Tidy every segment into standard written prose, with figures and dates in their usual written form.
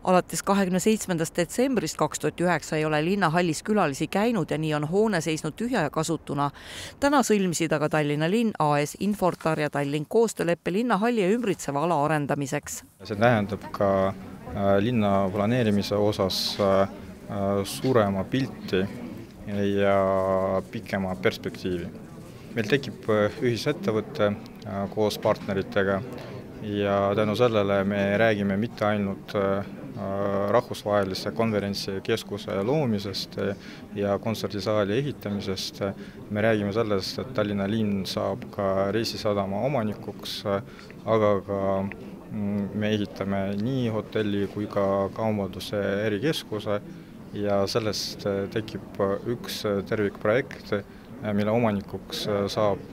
Alates 27. detsembrist 2009 ei ole linnahallis külalisi käinud ja nii on hoone seisnud tühja ja kasutuna. Täna sõlmisid aga Tallinna linn, AS Infortar ja Tallink koostööleppe linnahalli ja ümbritseva ala arendamiseks. See tähendab ka linna planeerimise osas suurema pilti ja pikema perspektiivi. Meil tekib ühisettevõte koos partneritega ja tänu sellele me räägime mitte ainult rahvusvahelise konverentsikeskuse loomisest ja kontserdisaali ehitamisest. Me räägime sellest, et Tallinna linn saab ka reisisadama omanikuks, aga ka me ehitame nii hotelli kui ka kaubanduse erikeskuse ja sellest tekib üks tervikprojekt, mille omanikuks saab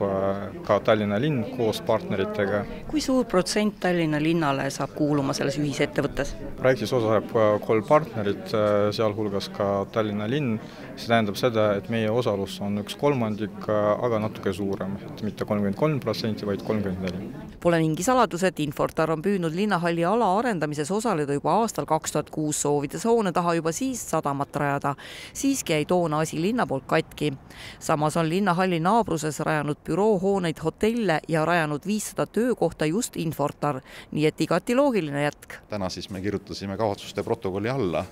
ka Tallinna linn koos partneritega. Kui suur protsent Tallinna linnale saab kuuluma selles ühisettevõttes? Projektis osaleb 3 partnerit, sealhulgas ka Tallinna linn. See tähendab seda, et meie osalus on 1/3, aga natuke suurem, et mitte 33%, vaid 34%. Pole mingi saladus, et Infortar on püüdnud linnahalli ala arendamises osaleda juba aastal 2006, soovides hoone taha juba siis sadamat rajada. Siiski jäi toona asi linna poolt katki. Samas on linnahalli naabruses rajanud büroohooneid, hotelle ja rajanud 500 töökohta just Infortar, nii et igati loogiline jätk. Täna siis me kirjutasime kavatsuste protokolli alla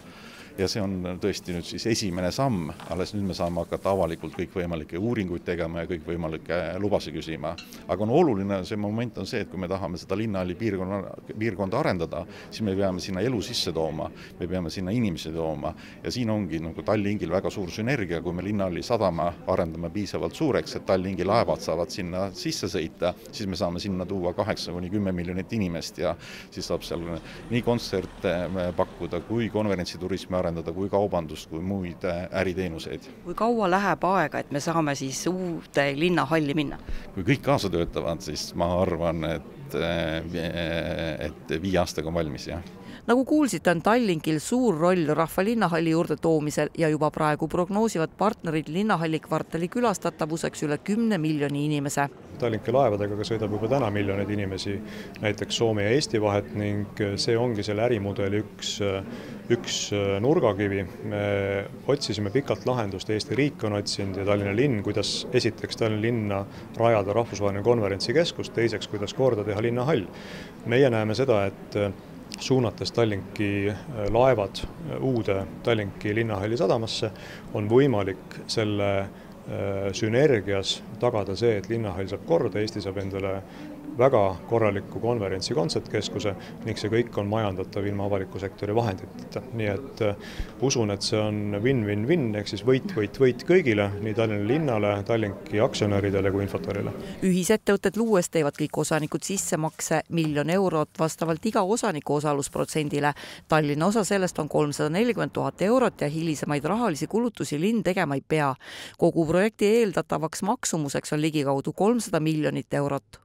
ja see on tõesti nüüd siis esimene samm, alles nüüd me saame hakata avalikult kõikvõimalikke uuringuid tegema ja kõikvõimalikke lubasi küsima. Aga oluline see moment on see, et kui me tahame seda linnahalli piirkonda arendada, siis me peame sinna elu sisse tooma, me peame sinna inimesi tooma ja siin ongi nagu Tallinkil väga suur sünergia, kui me linnahalli sadama arendame piisavalt suureks, et Tallinki laevad saavad sinna sisse sõita, siis me saame sinna tuua 8–10 miljonit inimest ja siis saab seal nii kontserte pakkuda kui konverentsiturismi arendada, kui kaubandust, kui muid äriteenuseid. Kui kaua läheb aega, et me saame siis uude linnahalli minna? Kui kõik kaasa töötavad, siis ma arvan, et 5 aastaga on valmis, jah. Nagu kuulsite, on Tallinkil suur roll rahva linnahalli juurde toomisel ja juba praegu prognoosivad partnerid linnahalli kvartali külastatavuseks üle 10 miljoni inimese. Tallinki laevadega sõidab juba täna miljoneid inimesi, näiteks Soome ja Eesti vahet ning see ongi selle ärimudeli üks nurgakivi. Me otsisime pikalt lahendust, Eesti riik on otsinud ja Tallinna linn, kuidas esiteks Tallinna linna rajada rahvusvaheline konverentsikeskus, teiseks kuidas korda teha linnahall. Meie näeme seda, et suunates Tallinki laevad uude Tallinki linnahalli sadamasse on võimalik selle sünergias tagada see, et linnahall saab korda, Eesti saab endale väga korraliku konverentsi kontsertkeskuse ning see kõik on majandatav ilma avaliku sektori vahenditeta. Nii et usun, et see on win-win-win, ehk siis võit kõigile, nii Tallinna linnale, Tallinki aktsionäridele kui Infortarile. Ühisettevõtted luues teevad kõik osanikud sissemakse 1 000 000 eurot vastavalt iga osaniku osalusprotsendile. Tallinna osa sellest on 340 000 eurot ja hilisemaid rahalisi kulutusi linn tegema ei pea. Kogu projekti eeldatavaks maksumuseks on ligikaudu 300 miljonit eurot.